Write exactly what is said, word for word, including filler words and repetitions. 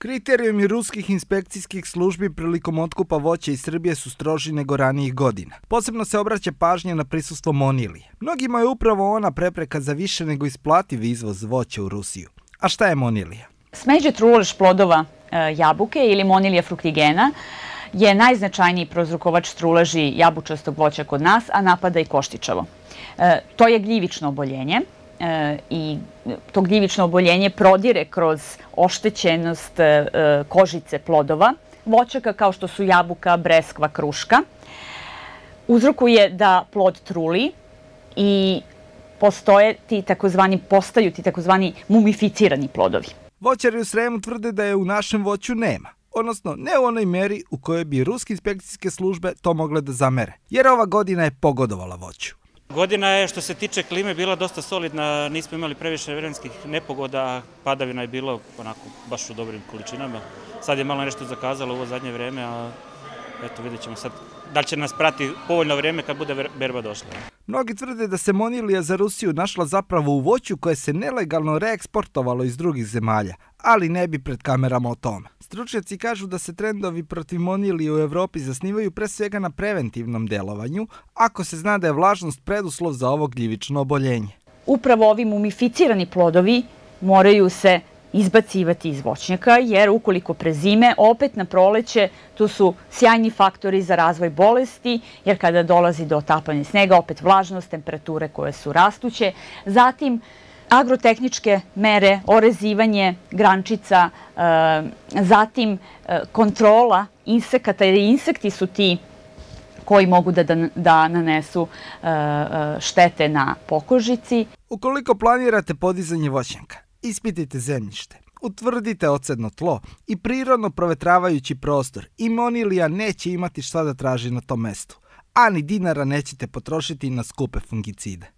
Kriterijumi ruskih inspekcijskih službi prilikom otkupa voća iz Srbije su stroži nego ranijih godina. Posebno se obraća pažnja na prisustvo monilije. Mnogima je upravo ona prepreka za više nego isplativ izvoz voća u Rusiju. A šta je monilija? Smeđe trulež plodova e, jabuke ili monilija fruktigena je najznačajniji prouzrokovač truleži jabučastog voća kod nas, a napada i koštičavo. E, to je gljivično oboljenje. E, i to gljivično oboljenje prodire kroz oštećenost e, kožice plodova voćaka kao što su jabuka, breskva, kruška. Uzrokuje da plod truli i postoje ti takozvani, postaju ti takozvani mumificirani plodovi. Voćari u Sremu tvrde da je u našem voću nema, odnosno ne u onoj meri u kojoj bi ruske inspekcijske službe to mogle da zamere, jer ova godina je pogodovala voću. Godina je što se tiče klime bila dosta solidna, nismo imali previše vremenskih nepogoda, padavina je bilo onako baš u dobrim količinama. Sad je malo nešto zakazalo u ovo zadnje vreme, a eto vidjet ćemo sad da li će nas prati povoljno vreme kad bude berba došla. Mnogi tvrde da se monilija za Rusiju našla zapravo u voću koje se nelegalno reeksportovalo iz drugih zemalja, ali ne bi pred kamerama o tome. Stručnjaci kažu da se trendovi protiv monilije u Evropi zasnivaju pre svega na preventivnom delovanju, ako se zna da je vlažnost preduslov za ovo gljivično oboljenje. Upravo ovi mumificirani plodovi moraju se izbacivati iz voćnjaka, jer ukoliko prezime, opet na proleće, tu su sjajni faktori za razvoj bolesti, jer kada dolazi do otapanja snega, opet vlažnost, temperature koje su rastuće. Zatim, agrotehničke mere, orezivanje grančica, zatim kontrola insekata, jer insekti su ti koji mogu da, da, da nanesu štete na pokožici. Ukoliko planirate podizanje voćnjaka, ispitajte zemljište, utvrdite odsedno tlo i prirodno provetravajući prostor i monilija neće imati šta da traži na tom mestu, a ni dinara nećete potrošiti na skupe fungicide.